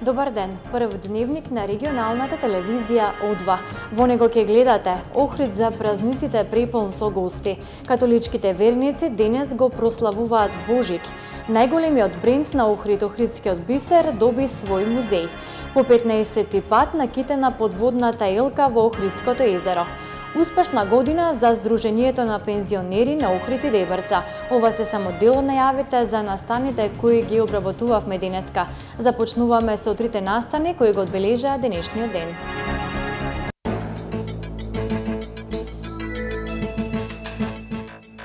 Добар ден, прв дневник на регионалната телевизија О2. Во него ќе гледате Охрид за празниците преполн со гости. Католичките верници денес го прославуваат Божик. Најголемиот бренд на Охрид, Охридскиот бисер, доби свој музеј. По 15-ти пат накитена подводната елка во Охридското езеро. Успешна година за Сдруженијето на пензионери на Охрид и Дебрца. Ова се само дел од најавите за настаните кои ги обработувавме денеска. Започнуваме со трите настани кои го одбележаа денешниот ден.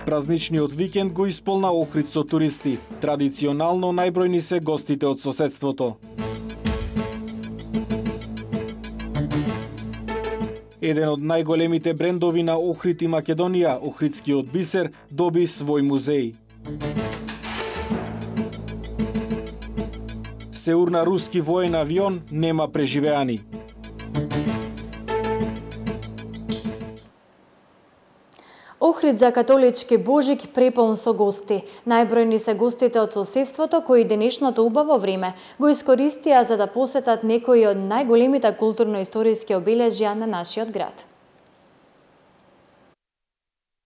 Празничниот викенд го исполна Охрид со туристи. Традиционално најбројни се гостите од соседството. Еден од најголемите брендови на Охрид и Македонија, Охридскиот бисер, доби свој музеј. Се урна руски воен авион, нема преживеани. Охрид за католички Божик преполн со гости. Најбројни се гостите од соседството кои денешното убаво време го искористија за да посетат некои од најголемите културно-историски обележја на нашиот град.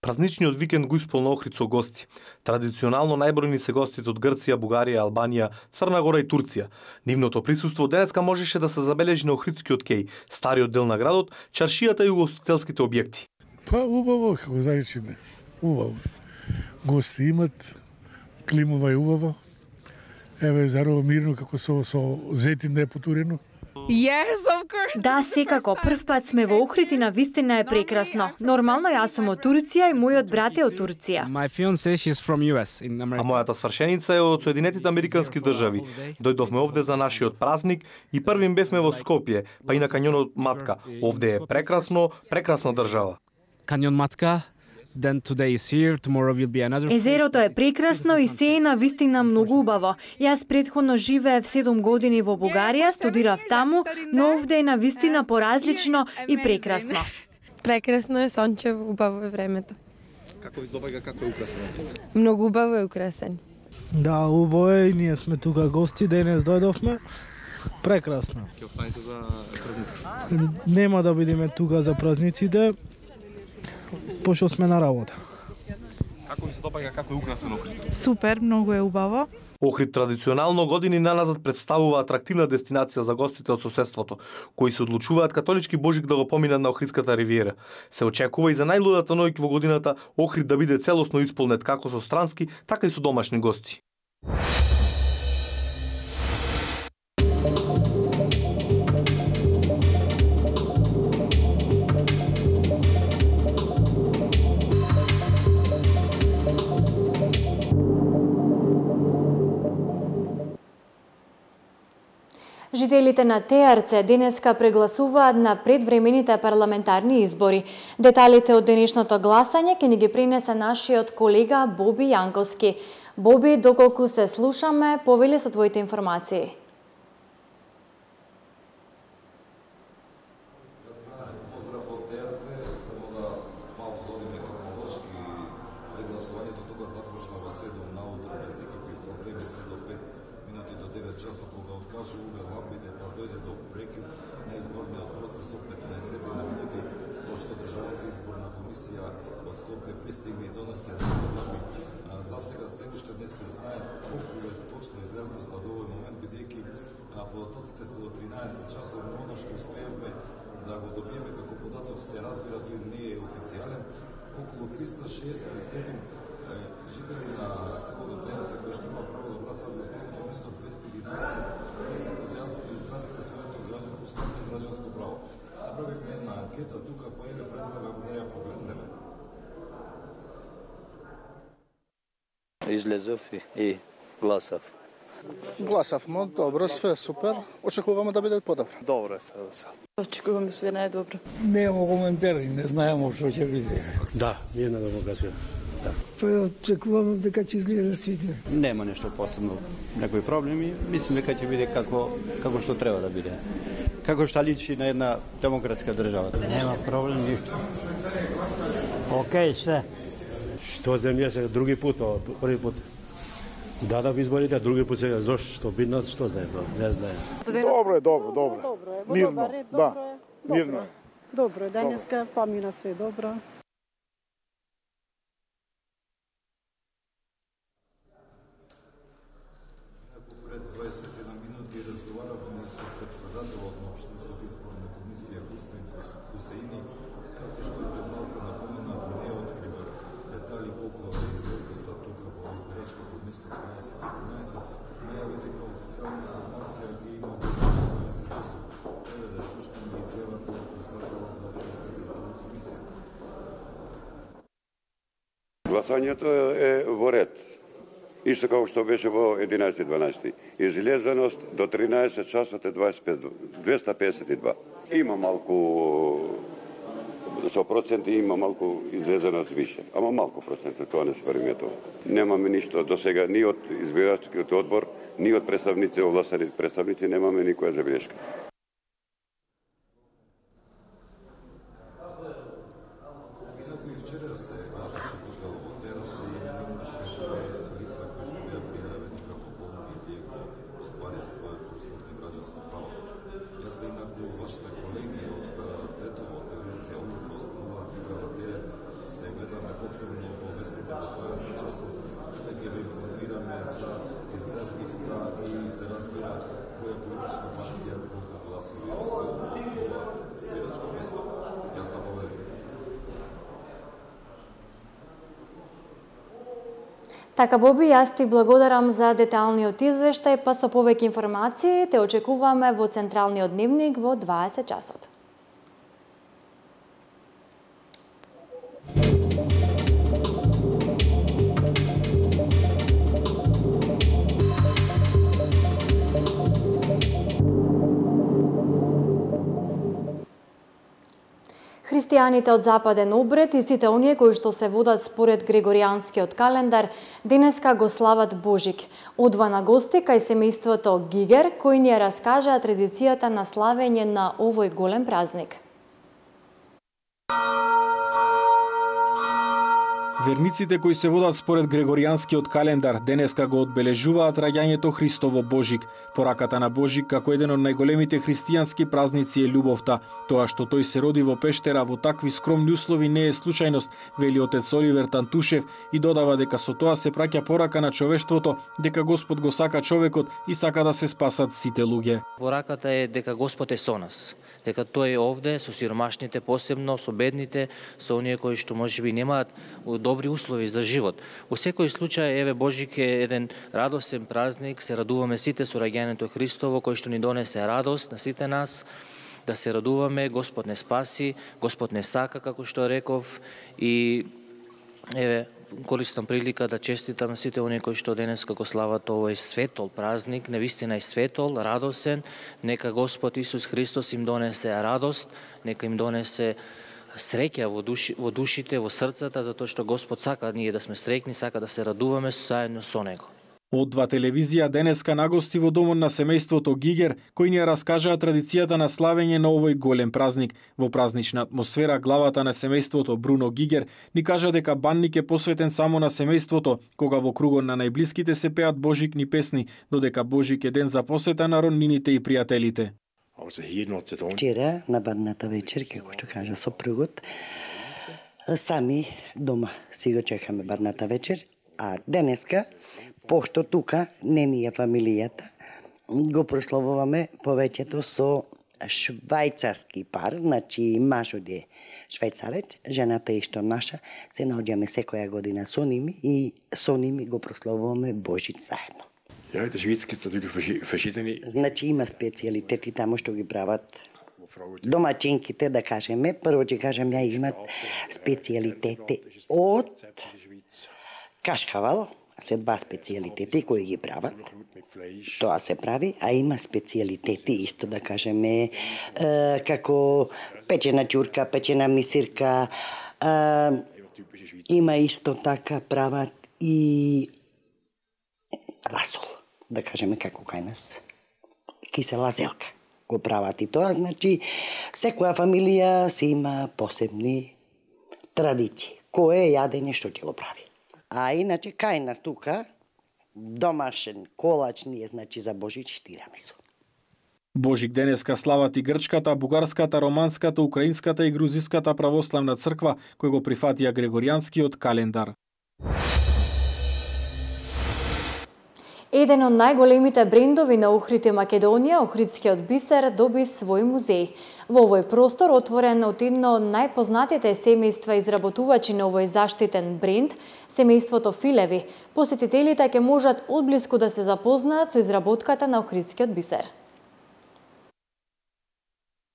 Празничниот викенд го исполна Охрид со гости. Традиционално најбројни се гостите од Грција, Бугарија, Албанија, Црна Гора и Турција. Нивното присуство денеска можеше да се забележи на Охридскиот кеј, стариот дел на градот, чаршијата и угостителските објекти. Па убаво, како заречеме, убаво. Гости имат, климова е убаво. Еве, зарова мирно, како со зетин да е потурено. Yes, of course. Да, секако, прв пат сме во Охрид и навистина е прекрасно. Нормално јас сум од Турција и мојот брат е од Турција. My fiancée, she's from US in America. А мојата свршеница е од Соединетите Американски држави. Дојдовме овде за нашиот празник и првим бевме во Скопје, па и на кањонот Матка. Овде е прекрасно, прекрасна држава. Каньон Матка, then today is here, tomorrow will be another. Езерото е прекрасно и се е навистина многу убаво. Јас претходно живеев 7 години во Бугарија, студирав таму, но овде е навистина поразлично и прекрасно. Прекрасно е, сончево, убаво е времето. Како ви допаѓа, како е украсен? Многу убаво е украсен. Да, убаво е, ние сме тука гости, денес дојдовме. Прекрасно. Ќе останете за празниците? Нема да бидеме тука за празниците, пошто сме на работа. Како ви се допаѓа, како е украсен Охрид? Супер, многу е убаво. Охрид традиционално години наназад представува атрактивна дестинација за гостите од соседството, кои се одлучуваат католички Божик да го поминат на Охридската ривиера. Се очекува и за најлудата ноќ во годината Охрид да биде целосно исполнет како со странски, така и со домашни гости. Жителите на Теарце денеска прегласуваат на предвремените парламентарни избори. Деталите од денешното гласање ќе ни ги принесе нашиот колега Боби Јанковски. Боби, доколку се слушаме, повели со твоите информации. Околу 367 жители на селото Теарце кои што има право да гласат во изборното место 211 јасно изразиле своето граѓанско право. Направивме една анкета тука, па еве предлагам да ја погледнеме. Излезов и гласав. Гласавме, добро, све супер. Очекуваме да биде подобро. Добро е сега. Очекуваме све најдобро. Немamo коментари, не знаеме што ќе биде. Да, мирна демокрација. Да. Па очекуваме дека ќе излезе свите. Нема нешто посебно, некои проблеми, мислам дека ќе биде како што треба да биде. Како што личи на една демократска држава. Нема проблем ништо. Океј, све. Што земја се други пут, први пут. Дадав изборите, а други пат сега зошто биднат, што знае, не знае. Добро е, добро. Мирно, да. Мирно е. Добро е, денеска помина све добро. Пред 21 минути разговаравме со председателот на Општинската изборна комисија Хусеин Хусеини, како што е малку напомена, не открива детали колку е излезла тука во избирачкото место 12-15, најави дека официјална информација ќе има во 17 часот. Еве да слушнеме изјавата на председателот на Општинската изборна комисија. Гласањето е во ред. Исто како што беше во 11-12. Излезеност до 13 часот е 252. Има малку со проценти, има малку излезеност више. Ама малку проценти, тоа не се приметува. Немаме ништо до сега ни од избирачкиот одбор, ни од представници, овластени представници, немаме никоја забелешка. Така, Боби, јас ти благодарам за деталниот извештај, па со повеќе информации те очекуваме во Централниот дневник во 20 часот. Христијаните од Западен обред и сите оние кои што се водат според Григоријанскиот календар денеска го слават Божик. Одва на гости кај семејството Гигер, кои ни ја раскажаа традицијата на славење на овој голем празник. Верниците кои се водат според Григоријанскиот календар денеска го одбележуваат раѓањето Христово Божик. Пораката на Божик како еден од најголемите христијански празници е љубовта. Тоа што тој се роди во пештера во такви скромни услови не е случајност, вели отец Оливер Тантушев и додава дека со тоа се праќа порака на човештвото дека Господ го сака човекот и сака да се спасат сите луѓе. Пораката е дека Господ е со нас, дека тој е овде со сиромашните, посебно со бедните, со оние кои што можеби немаат добри услови за живот. Во секој случај, еве, Божик е еден радосен празник, се радуваме сите со раѓањето Христово, кој што ни донесе радост на сите нас, да се радуваме, Господ не спаси, Господ не сака, како што реков, и еве, користам прилика да честитам сите оние кои што денеска го слават овој светол празник, навистина е светол, радосен, нека Господ Исус Христос им донесе радост, нека им донесе среќа во душите, во срцата, затоа што Господ сака ние да сме среќни, сака да се радуваме заедно со Него. Од Два телевизија денеска нагости во домот на семејството Гигер, кои ни ја раскажаа традицијата на славење на овој голем празник. Во празнична атмосфера, главата на семејството Бруно Гигер ни кажа дека банник е посветен само на семејството, кога во кругот на најблиските се пеат божикни песни, додека Божик е ден за посета на роднините и пријателите. Вчера на бадната вечер, како што кажа сопругот, сами дома си го чекаме бадната вечер, а денеска, пошто тука не ни е фамилијата, го прославуваме повеќето со швајцарски пар, значи мажот е швајцарец, жената е исто наша, се наоѓаме секоја година со ними и со ними го прославуваме Божит заедно. Ja, de Schweiz gibt es natürlich verschiedene. Значи има специјалитети таму што ги прават домаќинките, да кажеме. Прво ќе кажем, ја имат специјалитети од кашкавал, се два специјалитети кои ги прават. Тоа се прави, а има специјалитети исто, да кажеме, како печена ќурка, печена мисирка, има исто така прават и расол, да кажеме како кај нас, кисела зелка го прават и тоа, значи секоја фамилија си има посебни традиции, кое јадење што ќе го прави. А иначе кај нас тука, домашен колач ние, значи за Божич тирамису. Божик денеска слават и грчката, бугарската, романската, украинската и грузиската православна црква, кој го прифатија грегоријанскиот календар. Еден од најголемите брендови на Охрид и Македонија, Охридскиот бисер, доби свој музеј. Во овој простор, отворен од едно од најпознатите семејства изработувачи на овој заштитен бренд, семејството Филеви, посетителите ќе можат одблиску да се запознаат со изработката на Охридскиот бисер.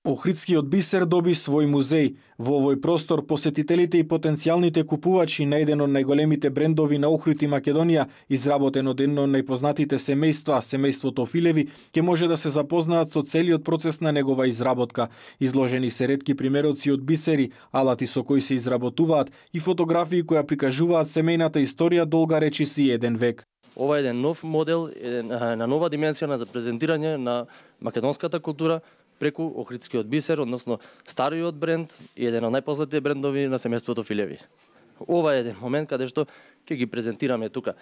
Охридскиот бисер доби свој музеј. Во овој простор посетителите и потенцијалните купувачи на еден од најголемите брендови на Охрид и Македонија, изработен од едно од најпознатите семејства, семејството Филеви, ќе може да се запознаат со целиот процес на негова изработка. Изложени се ретки примероци од бисери, алати со кои се изработуваат и фотографии кои прикажуваат семејната историја долга речиси еден век. Ова е еден нов модел, на нова дименсија за презентирање на македонската култура преку Охридскиот бисер, односно стариот бренд и еден од најпознатите брендови на семејството Филеви. Ова е еден момент каде што ќе ги презентираме тука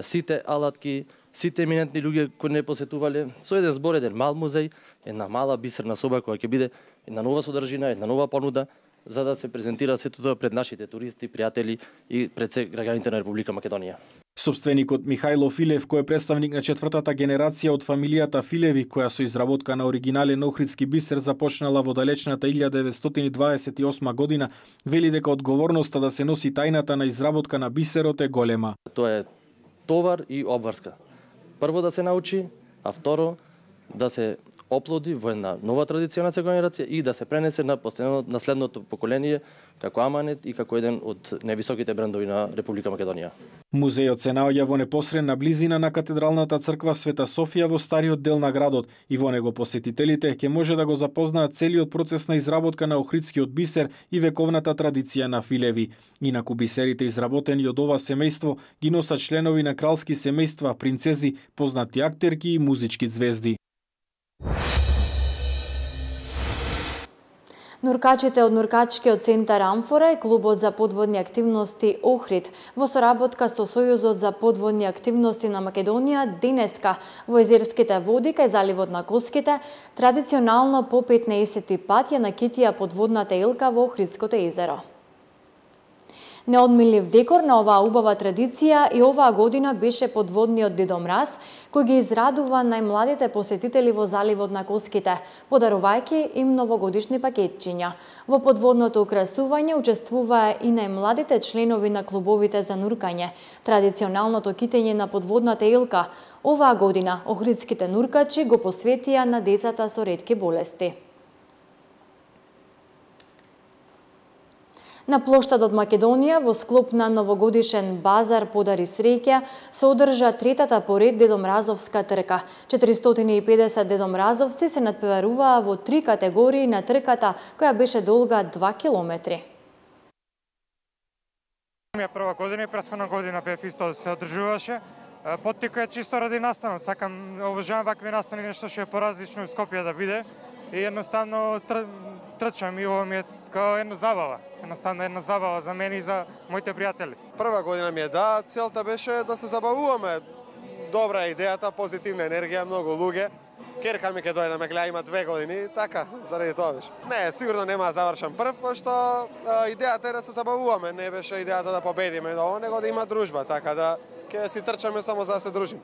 сите алатки, сите еминентни луѓе кои не посетувале, со еден збор, еден мал музеј, една мала бисерна соба која ќе биде една нова содржина, една нова понуда, за да се презентира сето тоа пред нашите туристи, пријатели и пред се граѓаните на Република Македонија. Собственикот Михајло Филев, кој е представник на четвртата генерација од фамилијата Филеви, која со изработка на оригинален охридски бисер започнала во далечната 1928 година, вели дека одговорноста да се носи тајната на изработка на бисерот е голема. Тоа е товар и обврска. Прво да се научи, а второ да се оплоди во една нова традиција на генерација и да се пренесе на наследното поколение како аманет и како еден од највисоките брендови на Република Македонија. Музејот се наоѓа во непосредна близина на катедралната црква Света Софија во стариот дел на градот и во него посетителите ќе може да го запознаат целиот процес на изработка на охридскиот бисер и вековната традиција на Филеви. Инаку бисерите изработени од ова семејство ги носат членови на кралски семејства, принцези, познати актерки и музички звезди. Нуркачите од Нуркачкиот центар Амфора и клубот за подводни активности Охрид во соработка со Сојузот за подводни активности на Македонија денеска во езерските води кај заливот на Коските традиционално по 15 пат ја накитија подводната елка во Охридското езеро. Неодмилив декор на оваа убава традиција и оваа година беше подводниот Дедо Мраз, кој ги израдува најмладите посетители во заливот на Коските, подарувајќи им новогодишни пакетчиња. Во подводното украсување учествуваа и најмладите членови на клубовите за нуркање. Традиционалното китење на подводната елка оваа година охридските нуркачи го посветија на децата со ретки болести. На плоштадот Македонија во склоп на новогодишен базар Подари среќа се одржа третата поред Дедомразовска трка. 450 дедомразовци се надпреваруваа во 3 категории на трката, која беше долга 2 километри. Прва година и претходна година бев исто се одржуваше. Поттика е чисто ради настанот. Сакам, обожавам вакви настани, нешто што е поразлично в Скопје да биде. И едноставно трчам и ова ми е као една забава. Едноставно една забава за мене и за моите пријатели. Прва година ми е целта беше да се забавуваме. Добра е идејата, позитивна енергија, многу луѓе. Керка ми ке дојде да ме гледа, има 2 години, така, заради тоа беше. Не, сигурно нема да завршам прв, пошто идејата е да се забавуваме, не беше идејата да победиме, него да има дружба, така да ќе си трчаме само за да се дружиме.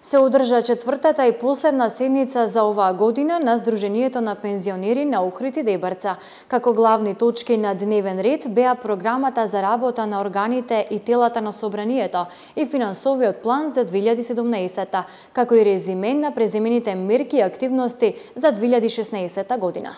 Се одржа четвртата и последна седница за оваа година на Сдруженијето на пензионери на Охрид и Дебрца. Како главни точки на дневен ред беа програмата за работа на органите и телата на Собранието и финансовиот план за 2017, како и резиме на преземените мерки и активности за 2016 година.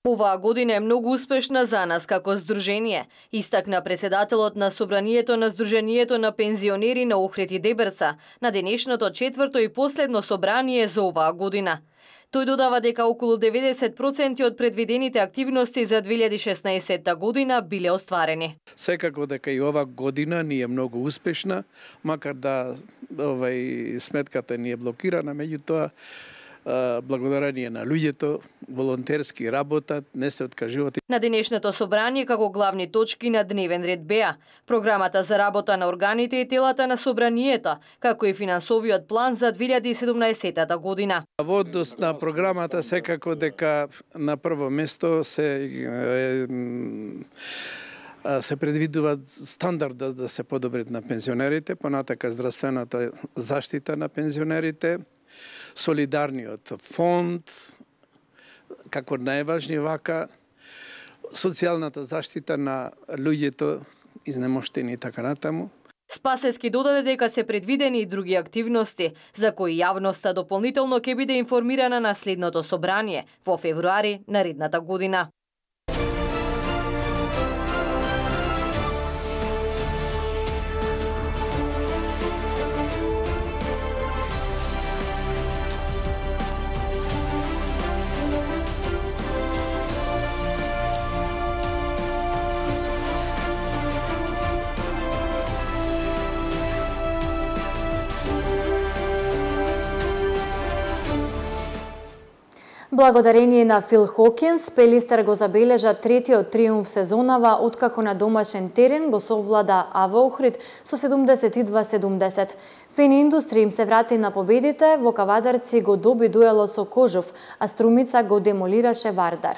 Оваа година е многу успешна за нас како здружение, истакна председателот на Собранието на Сдруженијето на пензионери на Охрид и Дебрца на денешното четврто и последно собрание за оваа година. Тој додава дека околу 90% од предвидените активности за 2016 година биле остварени. Секако дека и ова година ни е многу успешна, макар да сметката ни е блокирана, меѓутоа благодарение на луѓето, волонтерски работат, не се откажуваат. На денешното собрание како главни точки на дневен ред беа програмата за работа на органите и телата на собранието, како и финансовиот план за 2017 година. Во однос на програмата секако дека на прво место се предвидува стандард да се подобрат на пензионерите, понатака здравствената заштита на пензионерите, солидарниот фонд, како најважни вака, социјалната заштита на луѓето изнемоштени и така натаму. Спасески додаде дека се предвидени и други активности, за кои јавноста дополнително ќе биде информирана на следното собрание во февруари наредната година. Благодарение на Фил Хокинс, Пелистер го забележа третиот триумф сезонава откако на домашен терен го совлада АВ Охрид со 72-70. Фени Индустри им се врати на победите, во Кавадарци го доби дуелот со Кожув, а Струмица го демолираше Вардар.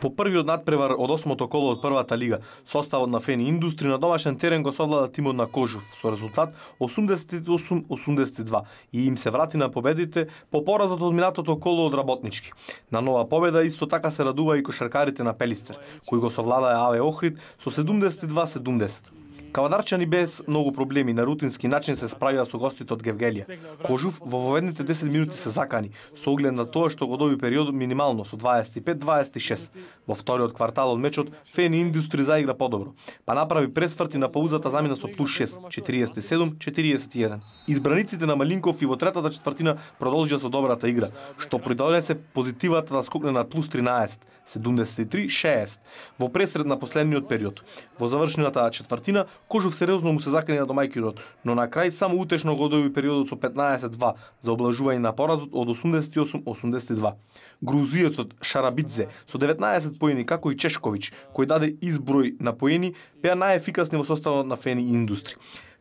По првиот надпревар од 8-то коло од првата лига, составот на Фени Индустри на домашен терен го совлада тимот на Кожув со резултат 88-82 и им се врати на победите по поразот од минатото коло од Работнички. На нова победа исто така се радува и кошаркарите на Пелистер, кои го совладаа АВ Охрид со 72-70. Кавадарчани без многу проблеми на рутински начин се справија со гостите од Гевгелија. Кожув во воведните 10 минути се закани, со оглед на тоа што го доби периодот минимално со 25-26. Во вториот квартал од мечот, Фени Индустри заигра подобро, па направи пресврт и на паузата замина со плюс 6, 47-41. Избраниците на Малинков и во третата четвртина продолжија со добрата игра, што придонесе позитивата да скокне на плюс 13, 73-60, во пресред на последниот период. Во завршената четвртина, Кожув сериозно му се закани на домајкинот, но на крај само утешно го доби периодот со 15-2 за облажување на поразот од 88-82. Грузиецот Шарабидзе со 19 поени, како и Чешковиќ, кој даде изброј на поени, беа најефикасни во составот на Фени Индустри.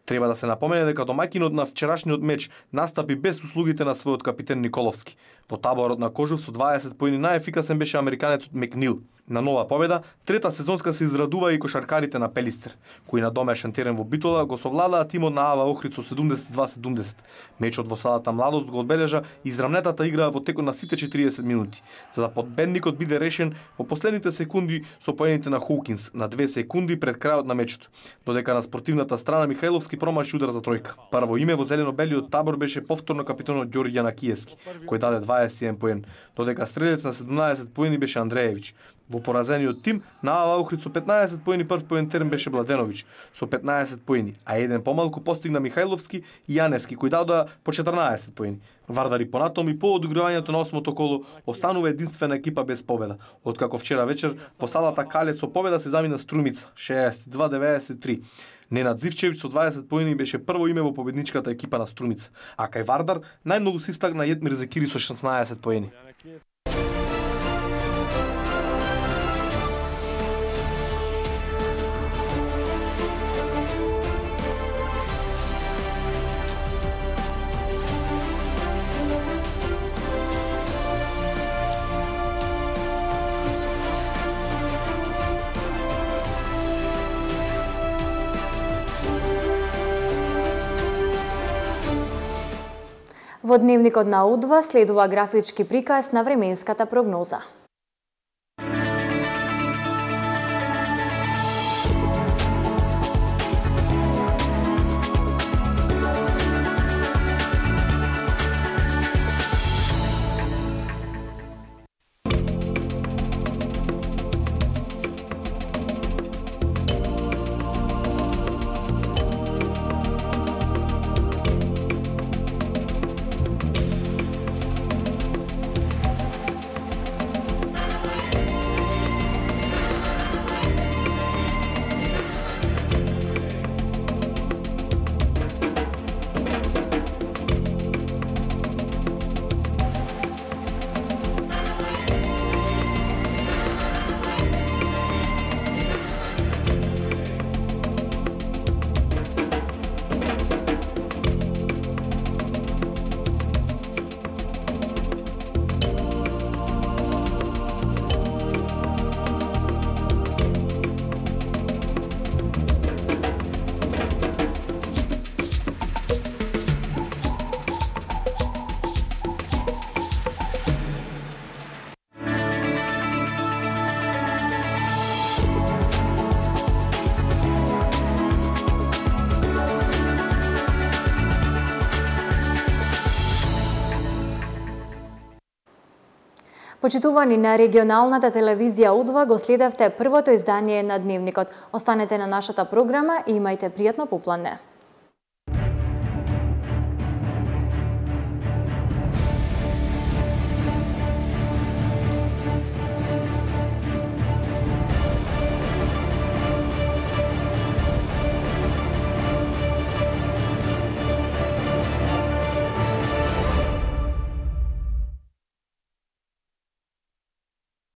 Треба да се напомене дека домаќинот на вчерашниот меч настапи без услугите на својот капитен Николовски. Во таборот на Кожув со 20 поени најефикасен беше американецот Мекнил. На нова победа, трета сезонска се израдува и кошаркарите на Пелистер, кои на домашен терен во Битола го совладаа тимот на АВ Охрид со 72-70. Мечот во Садата Младост го одбележа израмнетата игра во текот на сите 40 минути, за да победникот биде решен во последните секунди со поените на Хокинс на 2 секунди пред крајот на мечот, додека на спортивната страна Михајловски промаши удар за тројка. Прво име во зелено-белиот табор беше повторно капитанот Ѓорѓе Јанакиевски, кој даде 21 поен, додека стрелец на 17 поени беше Андреевиќ. Во поразениот тим на АВ Охрид со 15 поени прв поентерен беше Бладеновиќ со 15 поени, а еден помалку постигна Михајловски и Јаневски кои дадоа по 14 поени. Вардари понатом и по одигравањето на 8-то коло останува единствена екипа без победа, откако вчера вечер по салата Кале со победа се замина Струмица 62-93. Ненад Зивчевиќ со 20 поени беше прво име во победничката екипа на Струмица, а кај Вардар најмногу се истакна Јетмир Зекири со 16 поени. Во дневникот на Удва следува графички приказ на временската прогноза. Почитувани на регионалната телевизија Удва, го следевте првото издание на Дневникот. Останете на нашата програма и имајте пријатно попладне.